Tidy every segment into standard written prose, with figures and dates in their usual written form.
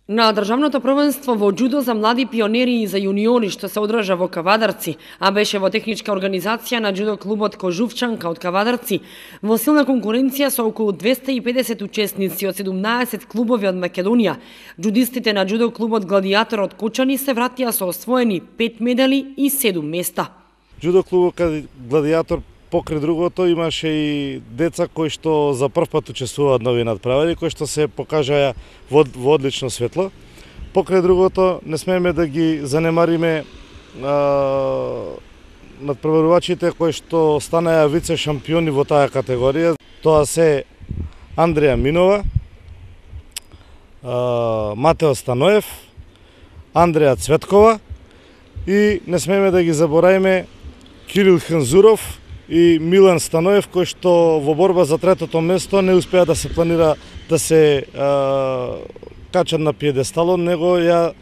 На државното првенство во џудо за млади пионери и за јуниори што се одржа во Кавадарци, а беше во техничка организација на џудо клубот Кожувчанка од Кавадарци, во силна конкуренција со околу 250 учесници од 17 клубови од Македонија, џудистите на џудо клубот Гладиатор од Кочани се вратија со освоени 5 медали и 7 места. Џудо клубот Гладиатор покрај другото имаше и деца кои што за прв пат учествуваат нови надправари, кои што се покажаа во одлично светло. Покрај другото не смееме да ги занемариме надпреварувачите кои што станаа вице шампиони во таа категорија. Тоа се Андреја Минова, Матео Станоев, Андреја Цветкова и не смееме да ги забораиме Кирил Ханзуров и Милан Станоев, кој што во борба за третото место не успеа да се планира да се качат на пиедесталот, него ја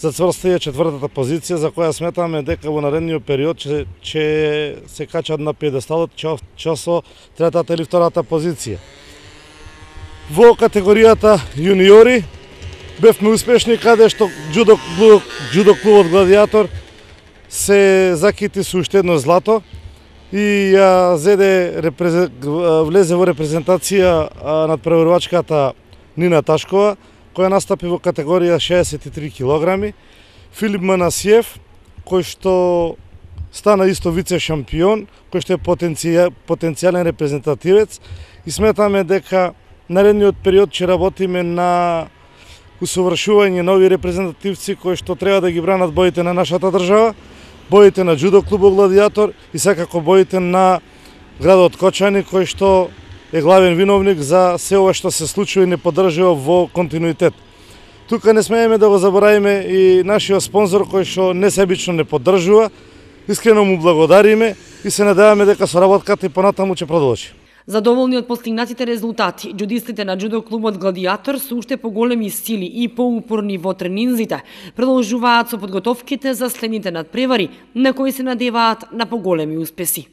зацврстија четвртата позиција, за која сметаме дека во наредниот период ќе се качат на пиедесталот со третата или втората позиција. Во категоријата јуниори бевме успешни, каде што џудо клубот Гладиатор се закити со уште едно злато и ја влезе во репрезентација надпреварувачката Нина Ташкова, која настапи во категорија 63 килограми, Филип Манасиев, кој што стана исто вице шампион, кој што е потенцијален репрезентативец, и сметаме дека наредниот период ќе работиме на усовршување нови репрезентативци кои што треба да ги бранат боите на нашата држава, боите на џудо клубот Гладиатор и секако боите на градот Кочани, кој што е главен виновник за се ова што се случува и не поддржува во континуитет. Тука не смееме да го заборавиме и нашиот спонзор кој што несебично не поддржува. Искрено му благодариме и се надеваме дека соработката и понатаму ќе продолжи. Задоволни од постигнатите резултати, џудистите на џудо клубот Гладиатор со уште поголеми сили и поупорни во тренинзите, продолжуваат со подготовките за следните надпревари, на кои се надеваат на поголеми успеси.